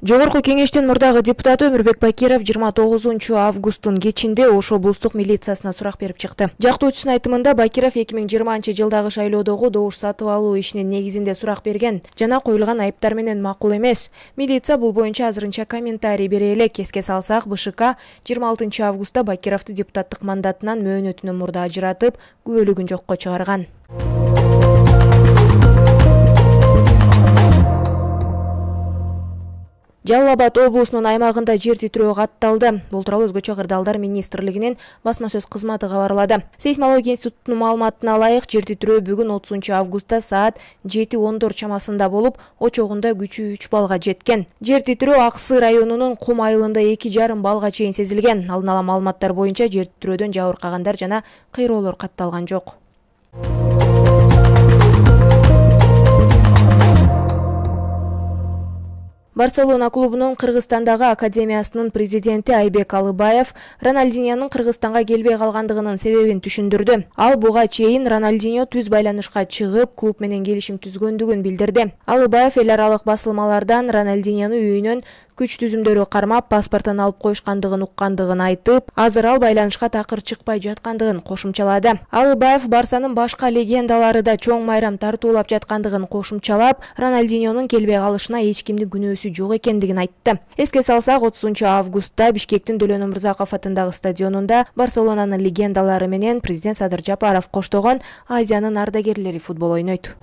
Жогорку кеңештин мурдагы депутаты Өмүрбек Бакиров 29 августтун кечинде Ош облустук милициясына сурак берип чыкты. Жактоочусунун айтымында Бакиров 2020-жылдагы шайлоодогу добуш сатып алуу ишинин негизинде сурак берген жана коюлган айыптар менен макул эмес. Милиция бул боюнча азырынча комментарий бере элек. Эске салсак, БШК 26 августта Бакировду депутаттык мандатынан мөөнөтүнөн мурда ажыратып, күбөлүгүн жокко чыгарган. Жалал Абад облусунун аймагында жер титирөө катталды. Бул тууралуу Өзгөчө кырдаалдар министрлигинин басма сөз кызматы кабарлады. Сейсмология институтунун маалыматына ылайык, жер титирөө бүгүн 30 августта саат 7:14 чамасында болуп, очогунда күчү 3 балга жеткен. Жер титирөө Ак Сый районунун Кум айылында 2,5 балга чейин сезилген. Алдын ала маалыматтар боюнча жер титирөөдөн жабыркагандар жана кыйроолор катталган жок. Барселона клубунун Кыргызстандагы академиясынын президенти Айбек Алыбаев Рональдиньонун Кыргызстанга келбей калгандыгынын себебин түшүндүрдү. Ал буга чейин Рональдиньо түз байланышка чыгып, клуб менен келишим түзгөндүгүн билдирди. Алыбаев эл аралык басылмалардан Рональдиньону үйүнөн күч түзүмдөрү кармап, паспортун алып коюшкандыгын уккандыгын айтып, азыр ал байланышка такыр чыкпай жаткандыгын кошумчалады. Алыбаев Барсанын башка легендалары да чоң майрам тартуулап жаткандыгын кошумчалап, Рональдиньонун келбей калышына эч кимдин күнөөсү жок экендигин айтты. Эске салсак, 30 августта Бишкектин Дөлөн Өмүрзаков атындагы стадионунда Барселонанын легендалары менен президент Садыр Жапаров коштогон Азиянын ардагерлери футбол ойнойт.